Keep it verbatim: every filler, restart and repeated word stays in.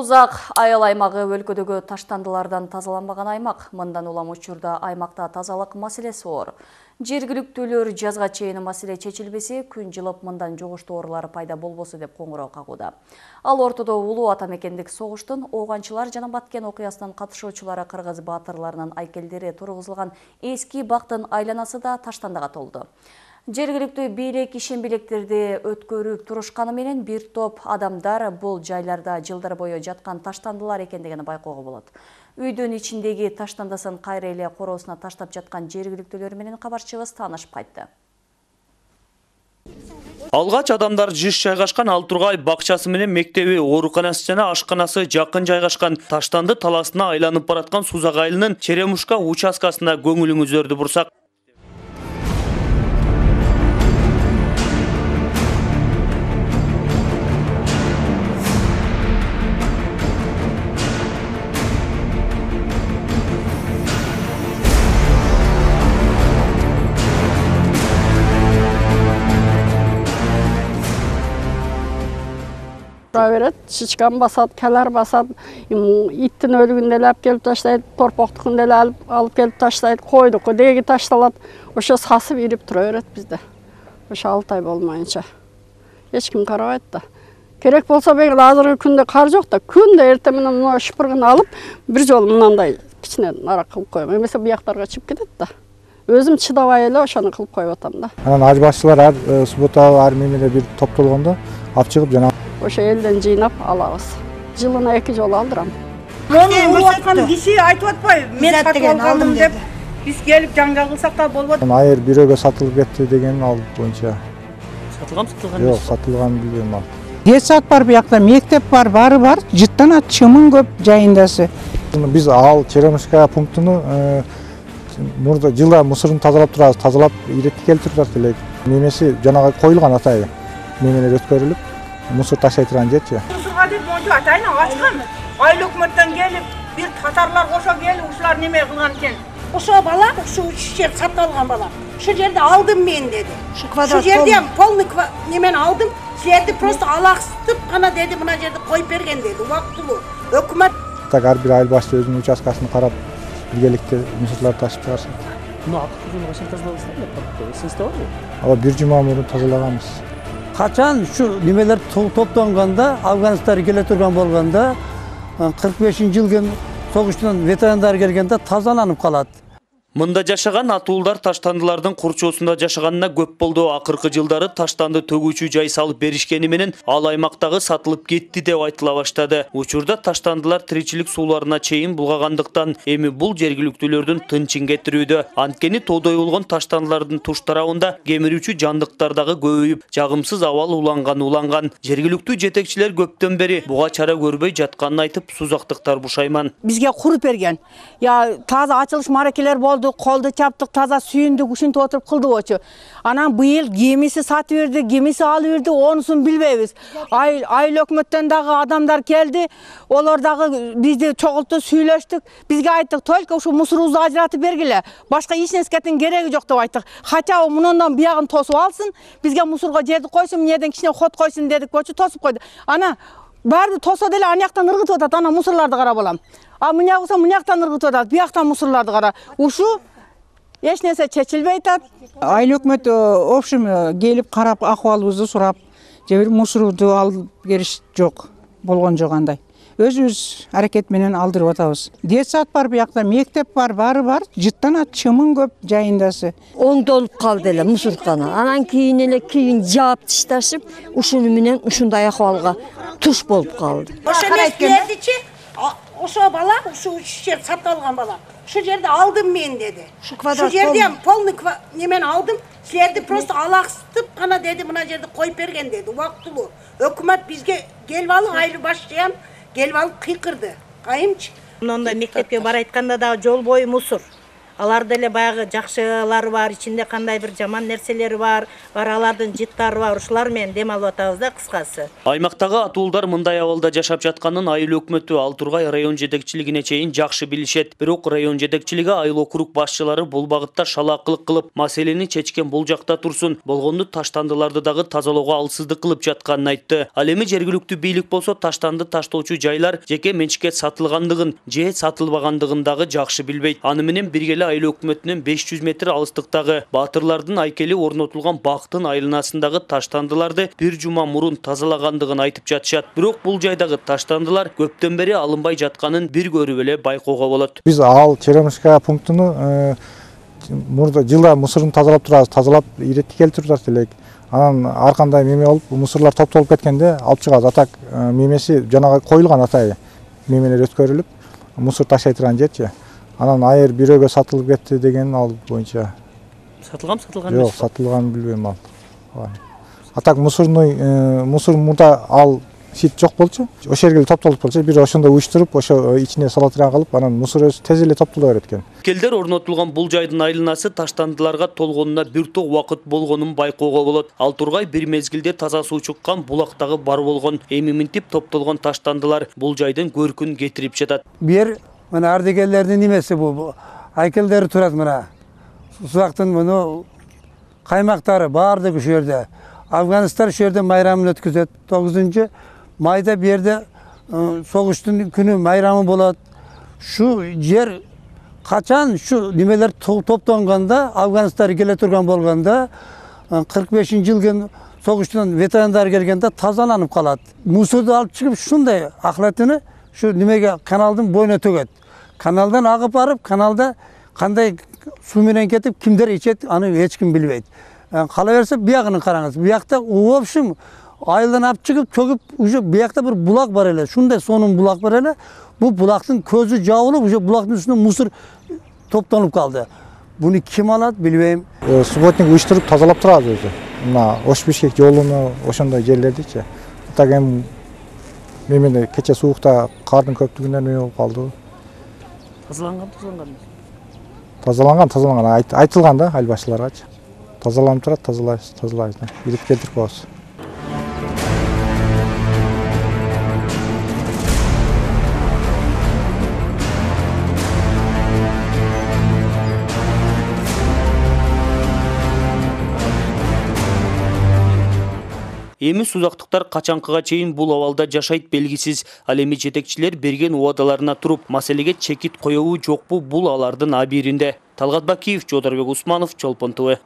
Сузак айыл аймагы өлкөдөгү таштандылардан тазаланбаган аймак. Мындан улам учурда аймакта тазалык маселеси оор. Жергиликтүүлөр жазга чейин маселе чечилбесе, күн жылып мындан жугуштуу оорулар пайда болбосо деп коңгуроо кагууда. Ал ортодо улуу ата мекендик согуштун ооганчылар жана Баткен окуясынын катышуучулары кыргыз баатырларынын айкелдери тургузулган эски бактын айланасы да таштандыга толду. Жергиликтүү бийлик ишембилектерди өткөрүп турушканы менен бир топ адамдар бул жайларда жылдар бою жаткан таштандылар экендигин байкоого болот. Үйдүн ичиндеги таштандасын кайра эле короосуна таштап жаткан жергиликтүүлөр менен кабарчыбыз таанышып кайтты. Алгач адамдар жыш жайгашкан Алтургай бакчасы менен мектеби, ооруканасы жана ашканасы жакын жайгашкан таштанды таласына айланып бараткан Сузак айылынын Черемушка участкасына көңүлүңүздөрдү бурсак. Берет, шичкан басат, калар басат, иттин өлүгүн эле алып келип таштайт, торпоктукун эле алып келип таштайт, койдуку деги ташталат. Ошо сасып ирип тура берет бизде. Ошо алты ай болмайынча. Эч ким карабайт да. Керек болсо бегил азыркы күндө кар жок да, күндө эртең менен мына шыпыргын алып, бир жолу мынандай кичине нарак кылып коем. Эмесе бияктарга чыгып кетет да. Өзүм чыдабай эле ошону кылып коюп атам да. Анан аж башчылар ар суббота ар мемеле бир топтолгондо алып чыгып жана ошо элден жыйнап алабыз. Жылына эки жолу алдырам. Муну уруп аткан киши айтып атпайбы? Мен сатып алдым деп. Биз келип жаңжал кылсак да болбойт. Айыр бирөөгө сатылып кетти деген ал боюнча. Сатылган сатылган. Жок, сатылган билбейм ал. Детсад бар, биякта мектеп бар, бары бар. Жыттан чымын көп жайындасы. Биз ал Черемушка пунктуну мурда жылда мусорун тазалап турабыз, тазалап иретке келтирип элек. Мемеси жанагы коюлган атайы. Мемелер өткөрүлүп, мусор таштай турган жерчи. Мусорга деп монча атайын ачкан. Айыл өкмөттөн келип, бир татарлар кошо келип, ушулар неме кылган экен. Ошо бала, ушу жер сатып алган бала. Ушу жерди алдым мен деди. Ушу жерди ham полный немени алдым. Силерди просто алаксытып гана деди, мына жерди коюп берген деди. Убактылуу. Өкмөт так ар бир айыл башчы өзүнүн участкасын карап, биргеликте мусорларды ташып чыгарсын. Мына акыркы качан тазалабыздар? Сизде барбы? Ала бир жума мурун тазалаганбыз. Качан ушу немелер топтонгондо, Афганистан келе турган болгондо, кырк бешинчи жылгы согуштун ветерандар келгенде тазаланып калат. Мында жашаган атуулдар таштандылардын курчоосунда жашаганына көп болду. Акыркы жылдары таштанды төгүүчү жай салып беришкени менен ал аймактагы сатылып кетти деп айтыла баштады. Учурда таштандылар тиричилик сууларына чейин булгагандыктан эми бул жергиликтүүлөрдүн тынчын кетирүүдө. Анткени тоодой болгон таштандылардын туш тарабында кемирүүчү жандыктар дагы көбөйүп, жагымсыз абал уланган уланган. Жергиликтүү жетекчилер көптөн бери буга чара көрбөй жатканын айтып, сузактыктар бушайман. Бизге куруп берген. Я таза ачылыш маракелер болду. Колду чаптык, таза сүйүндүк, ушинтип отуруп кылдыбычы. Анан быйыл кемиси сатып берди, кемиси алып берди, онусун билбейбиз. Айыл айыл өкмөттөн дагы адамдар келди. Олар дагы бизди чогулту, сүйлөштүк. Бизге айттык, только ушу мусорубузду ажыратып бергиле. Башка эч нерсенин кереги жок деп айттык. Хотя мунундан биягын тосуп алсын, бизге мусорго жерди койсун, эмнеден кичине ход койсун дедик, болчу тосуп койду. Ана баарды тосо деле анаяктан ыргытып атат, ана мусорлорду карап алам. А мына болсо мынаяктан ыргытып атат, бияктан мусорлорду кара. Ушу эч нерсе чечилбей атат. Айыл өкмөт общем келип карап акыбалыбызды сурап, же бир мусорду алып бериш жок, болгон жок андай. Өзүбүз аракет менен алдырып атабыз. Детсад бар, биякта мектеп бар, бары бар. Жыттан чымын көп жайындасы. Оңдолуп калды эле мусорканы. Анан кийин эле кийин жаап ташташып, ушуну менен ушундай акыбалга туш болуп калды. ошо эместердичи ошо бала, ушу жер сатып алган бала. Ушу жерди алдым мен деди. Ушу жерди ham полный немени алдым. Силерди просто алаксытып гана деди, мына жерди коюп берген деди. Убактылуу. Өкмөт бизге келип алып, айыл башчы ham келип алып кыйкырды. Кайымчы. Мындай мектепке бара айтканда дагы жол бою мусор. Аларда эле баягы жакшылары бар, ичинде кандай бир жаман нерселери бар, бар алардын жыттары бар, ушулар менен дем алып атабыз да кыскасы. Аймактагы атуулдар мындай абалда жашап жатканын айыл өкмөтү Ал Тургай район жетекчилигине чейин жакшы билишет. Бирок район жетекчилиги айыл округ башчылары бул багытта шалаакылык кылып, маселени чечкен бул жакта турсун, болгону таштандыларды дагы тазалоого алсыздык кылып жатканын айтты. Ал эми жергиликтүү бийлик болсо таштанды таштоочу жайлар жеке менчикке сатылгандыгын же сатылбагандыгын дагы жакшы билбейт. Аны менен бирге айыл өкмөтүнүн беш жүз метр алыстыктагы Баатырлардын айкели орнотулган бактын айланасындагы таштандыларды бир жума мурун тазалагандыгын айтып жатышат. Бирок бул жайдагы таштандылар көптөн бери алынбай жатканын бир көрүп эле байкоого болот. Биз Ал Черемушка пунктуну мурда жылда мусорун тазалап турабыз, тазалап иретти келтирип элек. Анан ар кандай меме болуп, мусорлор топтолуп кеткенде алып чыгабыз. Атак мемеси жанагы коюлган атайы мемелер өткөрүлүп, мусор таштай турган жерчи. Анан айыр бирөөгө сатылып кетти деген ал боюнча. Сатылган сатылган Жок, сатылганын билбейм ал. Атак мусорный мусор мурда ал сит жок болчу. Ошол жерге топтолуп болчу, бир ошондо уюштуруп, ошо ичине салатыран кылып, анан мусор өзү тез эле топтоло берет экен. Келдер орнотулган бул жайдын айланасы таштандыларга толгонуна бир топ убакыт болгонун байкоого болот. Ал Тургай бир мезгилде таза суу чыккан булактагы бар болгон. Эми минтип топтолгон таштандылар бул жайдын көркүн кетирип жатат. Бир мына ардегерлердин немеси бул. Айкелдери турат мына. Сузактын муну каймактары баардыгы ушул жерде. Афганистан ушул жерде майрамын өткөзөт. тогузунчу майда бу жерде согуштун күнү майрамы болот. Шу жер качан шу немелер топтонгондо, Афганистан келе турган болгондо, кырк бешинчи жылгы согуштун ветерандары келгенде тазаланып калат. Мусорду алып чыгып ушундай акылатыны шу немеге каналдын боюна төгөт. Каналдан агып барып, каналда кандай суу менен кетип, кимдер ичет, аны эч ким билбейт. Кала берсе биягын караңыз. Биякта в общем айылдан алып чыгып, чөгүп, уже биякта бир булак бар эле. Шундай сонун булак бар эле. Бу булактын көзү жабылып, уже булактын үстүнө мусор топтонуп калды. Буну ким алат билбейм. Субботник уюштуруп тазалап турабыз өзү. Мына Ош-Бишкек жолуну ошондой жерлердичи. Так эми мемеле кече суукта кардын көптүгүнөн эме болуп калды. Тазаланган, тазаланган. Тазаланган, тазаланган айтылган да айыл башчыларгачы. Тазаланып турат, тазалайбыз, тазалайбыз. Иретип келтирип коебуз. Эми сузактыктар качанкыга чейин бул абалда жашайт белгисиз. Ал эми жетекчилер берген убадаларына туруп, маселеге чекит коебу жокпу бул алардын абийиринде. Талгат Бакиев, Жодорбек Усманов, Чолпон ТВ.